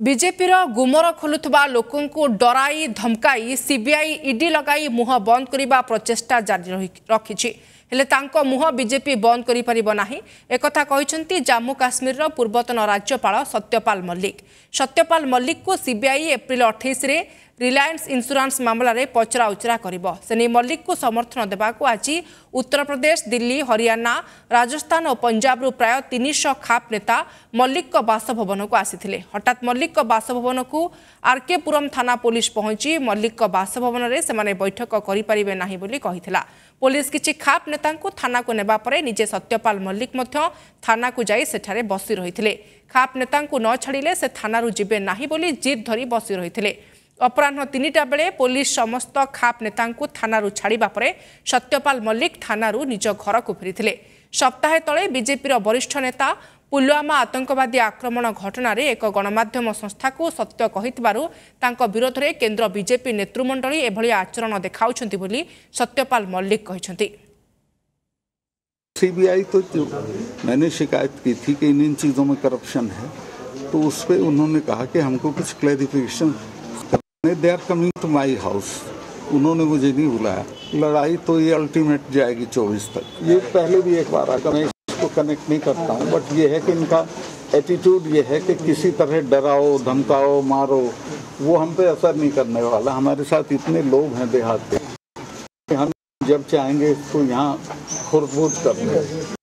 ବିଜେପିର ଗୁମର ଖୋଲୁଥିବା ଲୋକଙ୍କୁ ଡରାଇ ଧମକାଇ ସିବିଆଇ ଇଡି ଲଗାଇ ମୁହଁ ବନ୍ଦ କରିବା ପ୍ରଚେଷ୍ଟା ଜାରି ରଖିଛି। ହେଲେ ତାଙ୍କ ମୁହଁ ବିଜେପି ବନ୍ଦ କରିପାରିବ ନାହିଁ, ଏକଥା କହିଛନ୍ତି ଜାମ୍ମୁ କାଶ୍ମୀରର ପୂର୍ବତନ ରାଜ୍ୟପାଳ ସତ୍ୟପାଲ ମଲ୍ଲିକ। ସତ୍ୟପାଲ ମଲ୍ଲିକଙ୍କୁ ସିବିଆଇ ଏପ୍ରିଲ 28ରେ ରିଲାଏନ୍ସ ଇନ୍ସୁରାନ୍ସ ମାମଲାରେ ପଚରାଉଚରା କରିବ। ସେ ନେଇ ମଲ୍ଲିକଙ୍କୁ ସମର୍ଥନ ଦେବାକୁ ଆଜି ଉତ୍ତରପ୍ରଦେଶ, ଦିଲ୍ଲୀ, ହରିୟାଣା, ରାଜସ୍ଥାନ ଓ ପଞ୍ଜାବରୁ ପ୍ରାୟ 300 ଖାପ ନେତା ମଲ୍ଲିକଙ୍କ ବାସଭବନକୁ ଆସିଥିଲେ। ହଠାତ୍ ମଲ୍ଲିକଙ୍କ ବାସଭବନକୁ ଆର୍କେପୁରମ୍ ଥାନା ପୋଲିସ ପହଞ୍ଚି ମଲ୍ଲିକଙ୍କ ବାସଭବନରେ ସେମାନେ ବୈଠକ କରିପାରିବେ ନାହିଁ ବୋଲି କହିଥିଲା। ପୋଲିସ କିଛି ଖାପ ନେତାଙ୍କୁ ଥାନାକୁ ନେବା ପରେ ନିଜେ ସତ୍ୟପାଲ ମଲ୍ଲିକ ମଧ୍ୟ ଥାନାକୁ ଯାଇ ସେଠାରେ ବସି ରହିଥିଲେ। ଖାପ ନେତାଙ୍କୁ ନ ଛାଡ଼ିଲେ ସେ ଥାନାରୁ ଯିବେ ନାହିଁ ବୋଲି ଜିଦ୍ ଧରି ବସି ରହିଥିଲେ। ଅପରାହ୍ନ 3ଟା ବେଳେ ପୋଲିସ ସମସ୍ତ ଖାପ ନେତାଙ୍କୁ ଥାନାରୁ ଛାଡ଼ିବା ପରେ ସତ୍ୟପାଲ ମଲ୍ଲିକ ଥାନାରୁ ନିଜ ଘରକୁ ଫେରିଥିଲେ। ସପ୍ତାହେ ତଳେ ବିଜେପିର ବରିଷ୍ଠ ନେତା ପୁଲୱାମା ଆତଙ୍କବାଦୀ ଆକ୍ରମଣ ଘଟଣାରେ ଏକ ଗଣମାଧ୍ୟମ ସଂସ୍ଥାକୁ ସତ୍ୟ କହିଥିବାରୁ ତାଙ୍କ ବିରୋଧରେ କେନ୍ଦ୍ର ବିଜେପି ନେତୃମଣ୍ଡଳୀ ଏଭଳି ଆଚରଣ ଦେଖାଉଛନ୍ତି ବୋଲି ସତ୍ୟପାଲ ମଲ୍ଲିକ କହିଛନ୍ତି। सीबीआई तो मैंने शिकायत की थी कि इन इन चीज़ों में करप्शन है, तो उस पर उन्होंने कहा कि हमको कुछ clarification, they are coming to my house. उन्होंने मुझे नहीं बुलाया। लड़ाई तो ये अल्टीमेट जाएगी 24 तक। ये पहले भी एक बार आकर मैं इसको कनेक्ट नहीं करता हूँ, बट ये है कि इनका एटीट्यूड ये है कि किसी तरह डराओ, धमकाओ, मारो, वो हम पे असर नहीं करने वाला। हमारे साथ इतने लोग हैं देहात के, हम जब चाहेंगे इसको यहाँ खुरबूज कर देंगे।